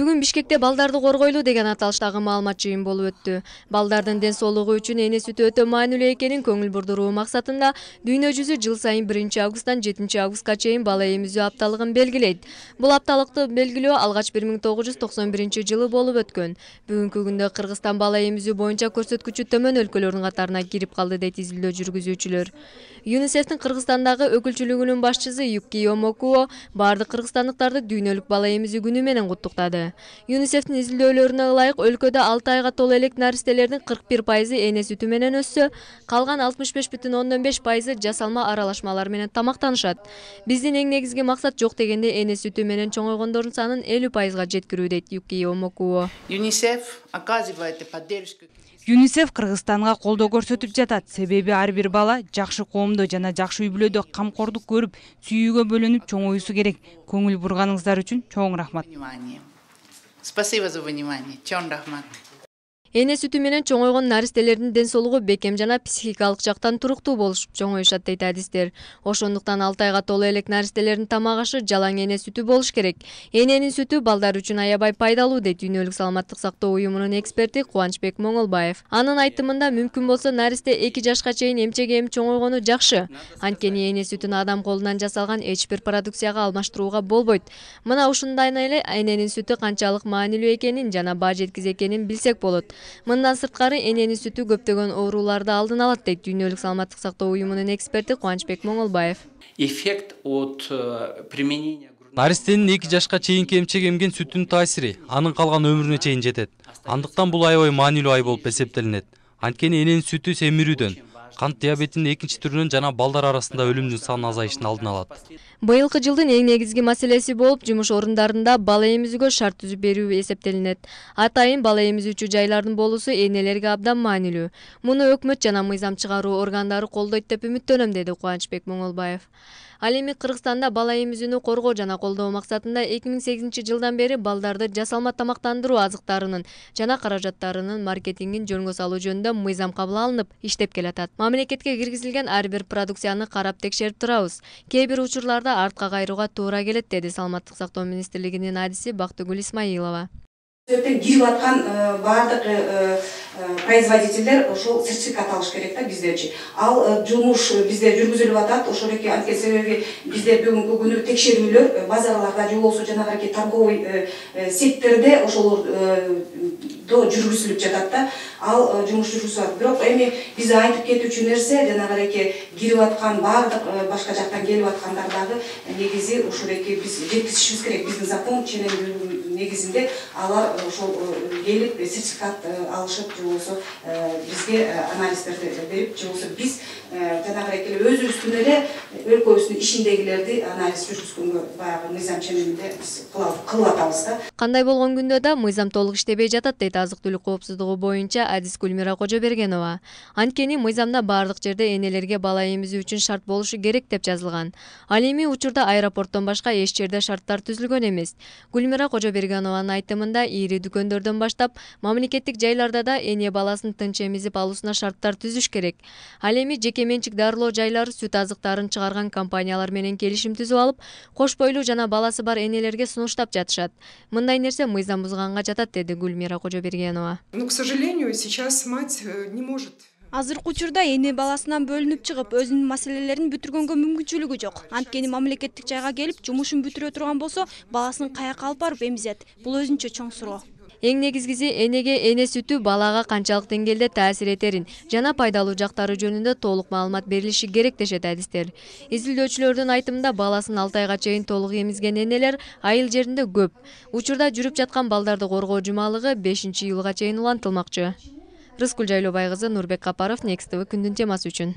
Бүгүн Бишкекте балдарды коргойлуу деген аталыштагы маалымат жыйын болуп өттү. Балдардын ден соолугу үчүн эне сүтү өтө маанилүү экенин көңүл бурдуруу максатында дүйнө жүзү жыл сайын 1-августтан 7-августка чейин бала эмизүү апталыгын белгилейт. Бул апталыкты белгилөө алгач 1991 жылы болуп өткөн. Бүгүнкү күндө Кыргызстан бала эмизүү боюнча көрсөткүчү төмөн өлкөлөрдүн катарына кирип калды дейт изилдөө жүргүзүүчүлөр. ЮНИСЕФтин Кыргызстандагы өкүлчүлүгүнүн башчысы Юки Омокуо бардык кыргызстандыктарды дүйнөлүк бала эмизүү күнү менен куттуктады. ЮНИСЕФтин изилдөөлөрүнө ылайык өлкөдө 6 айга толо элек наристелердин 41% эне сүтү менен өссө, калган 65,5% жасалма аралашмалар менен тамактанышат. Биздин эң негизги максат жок дегенде эне сүтү менен чоңойгондордун санын 50%га жеткирүү дейт Юки Омокуо. ЮНИСЕФ Кыргызстанга колдоо көрсөтүп жатат. Себеби ар бир бала жакшы коомдо жана жакшы үй бүлөдө камкордук көрүп, сүйүүгө бөлүнүп чоңоюусу керек. Көңүл бурганыңыздар үчүн чоң рахмат. Спасибо за внимание. Чоң рахмат. Эне сүтү менен чоңойгон наристелердин ден соолугу бекем жана психикалык жактан туруктуу болушуп чоңоюшат дейт адистер. Ошондуктан 6 айга толо элек наристелердин тамак ашы жалаң эне сүтү болуш керек. Эненин сүтү балдар үчүн аябай пайдалуу дейт Дүйнөлүк саламаттык сактоо уюмунун эксперти Кубанычбек Моңолбаев. Анын айтымында мүмкүн болсо наристе 2 жашка чейин эмчек эмип чоңойгону жакшы. Анткени эне сүтүн адам колунан жасалган эч бир продукцияга алмаштырууга болбойт. Мына ушундай эле эненин сүтү канчалык маанилүү экенин жана баа жеткиз экенин билсек болот. Мындан сырткары эненин сүтү көптөгөн ооруларды алдын алат дейт Дүйнөлүк саламаттык сактоо уюмунун эксперти Кубанычбек Моңолбаев. Эффект от применения наристенин 2 жашка чейинки эмчек эмген сүтүнүн таасири анын калган өмүрүнө чейин жетет. Андыктан бул аябай маанилүү ай болуп эсептелинет. Анткени эненин сүтү семирүүдөн, кант диабетинин 2-түрүнөн жана балдар арасында өлүмдүн санын азайышына алдын алат. Быйылкы жылдын эң негизги маселеси болуп жумуш орундарында бала эмизүүгө шарт түзүп берүү эсептелинет. Атайын бала эмизүүчү жайлардын болуусу энелерге абдан маанилүү. Муну өкмөт жана мыйзам чыгаруу органдары колдойт деп үмүттөнөм, деди Кубанычбек Моңолбаев. Ал эми Кыргызстанда бала эмизүүнү коргоо жана колдоо максатында 2008 жылдан бери балдарды жасалма тамактандыруу азыктарынын жана каражаттарынын маркетингин жөнгө салуу жөнүндө мыйзам кабыл алынып, иштеп келатат. Мамлекетке киргизилген ар бир продукцияны карап текшерип турабыз. Кээ бир учурларда артка кайрууга туура келет, деди Саламаттык сактоо министрлигинин адиси Бактыгүл Исмаилова. Кирип аткан бардык производителдер ошол сертификат алыш керек да биздерчи. Ал жумуш бизде жүргүзүлүп атат. Ошол эки анткени себеби бизде бүгүнкү күнү текшерүүлөр базарларда же болбосо жанагы торговый сеттерде ошолордо жүргүзүлүп жатат да. Ал жумуш жүргүзүп атат. Бирок эми биз айтып кетүүчү нерсе жанагы кирип аткан бардык башка жактан келип аткандардагы негизи ошол биз жеткизишибиз керек. Биздин закон ченемдүүлүгүнүн негизинде алар ошол келип сертификат алышып же болбосо бизге анализдерди берип же болбосо биз жанагы өзүбүздүн эле өлкөбүздүн ишиндегилерди анализ жүргүзгөнгө баягы мыйзам ченеминде биз кылып атабыз да. Кандай болгон күндө да мыйзам толук иштебей жатат, дейт азык-түлүк коопсуздугу боюнча адис Гүлмира Кожобергенова. Анткени мыйзамда бардык жерде энелерге бала эмизүү үчүн шарт болушу керек деп жазылган. Ал эми учурда аэропорттон башка эч жерде шарттар түзүлгөн эмес. Гүлмира Кожобергенованын айтымында ири дүкөндөрдөн баштап мамлекеттик жайларда да эне баласын тынч эмизип алуусуна шарттар түзүш керек. Ал эми жеке менчик дарылоо жайлары сүт азыктарын чыгарган компаниялар менен келишим түзүп алып, кош бойлуу жана баласы бар энелерге сунуштап жатышат. Мындай нерсе мыйзам бузганга жатат, деди Гүлмира Кожобергенова. Но, к сожалению, сейчас мать не может. Азыркы учурда эне баласынан бөлүнүп чыгып, өзүнүн маселелерин бүтүргөнгө мүмкүнчүлүгү жок. Анткени мамлекеттик жайга келип, жумушун бүтүрө турган болсо, баласын каяка алып барып эмизет. Бул өзүнчө чоң суроо. Эң негизгиси энеге эне сүтү балага канчалык деңгээлде таасир этерин жана пайдалуу жактары жөнүндө толук маалымат берилиши керек, дешет адистер. Изилдөөчүлөрдүн айтымында баласын 6 айга чейин толук эмизген энелер айыл жеринде көп. Учурда жүрүп жаткан балдарды коргоо жумалыгы 5-июлга чейин улантылмакчы. Рыскүл Жайлообай кызы, Нурбек Капаров, Next TV күндүн темасы үчүн.